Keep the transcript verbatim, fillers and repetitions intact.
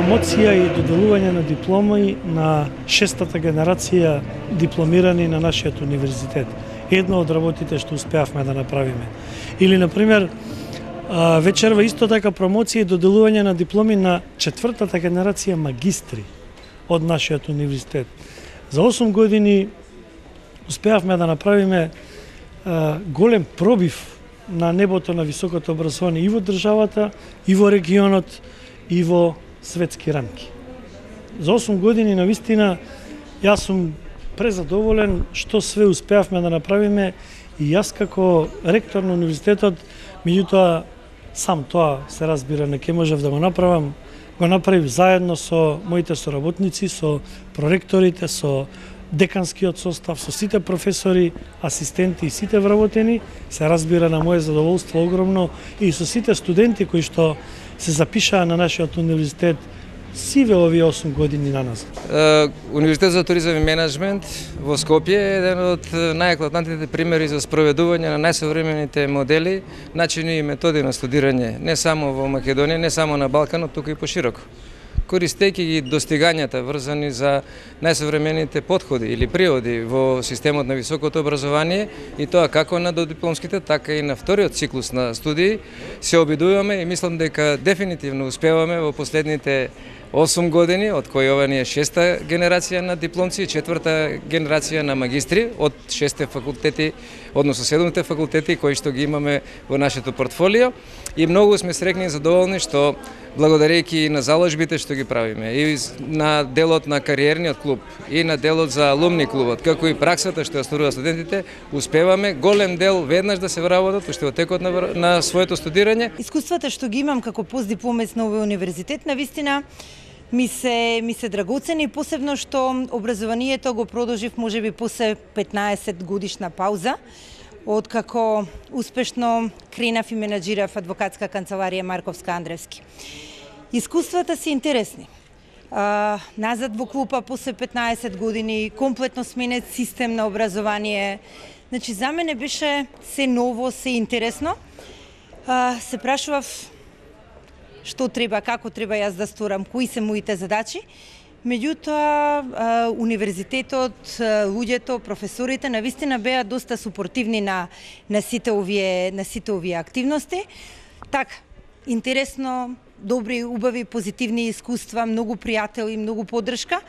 промоција и доделување на дипломи на шестата генерација дипломирани на нашиот универзитет. Едно од работите што успеавме да направиме. Или, например, вечерва исто така промоција и доделување на дипломи на четвртата генерација магистри од нашиот универзитет. За осум години успеавме да направиме голем пробив на небото на високото образование и во државата, и во регионот, и во светски рамки. За осум години, навистина, јас сум презадоволен што све успеавме да направиме и јас како ректор на универзитетот, меѓутоа сам тоа се разбира не ќе можев да го направам, го направив заедно со моите соработници, со проректорите, со деканскиот состав, со сите професори, асистенти и сите вработени, се разбира на моје задоволство огромно и со сите студенти кои што се запишаа на нашиот универзитет сиве овие осум години на нас. Универзитет за туризам и менеджмент во Скопје е еден од најеклатантните примери за спроведување на најсовремените модели, начини и методи на студирање, не само во Македонија, не само на Балканот, туку и пошироко. Користејќи ги достигањата врзани за најсовремените подходи или приводи во системот на високото образование и тоа како на додипломските, така и на вториот циклус на студии, се обидуваме и мислам дека дефинитивно успеваме во последните осум години, од кои ова ни е шеста генерација на дипломци и четврта генерација на магистри од шесте факултети, односно седумте факултети кои што ги имаме во нашето портфолио и многу сме среќни и задоволни што благодарејќи на заложбите што ги правиме и на делот на кариерниот клуб и на делот за алумни клубот, како и праксата што ја остваруваат студентите, успеваме голем дел веднаш да се вработат уште во текот на, на своето студирање. Искуствата што ги имам како постдипломец на овој универзитет навистина ми се ми се драгоцени, посебно што образованието го продолжив можеби после петнаесет годишна пауза, откако успешно кренав и менаџирав адвокатска канцеларија Марковска Андревски. Искуствата се интересни. А, назад во клупа после петнаесет години, комплетно сменет систем на образование. Значи, за мене беше се ново, се интересно. А, се прашував што треба, како треба јас да сторам, кои се моите задачи. Меѓутоа, универзитетот, луѓето, професорите навистина беа доста супортивни на на сите овие на сите овие активности. Така, интересно, добри, убави, позитивни искуства, многу пријатели, многу поддршка.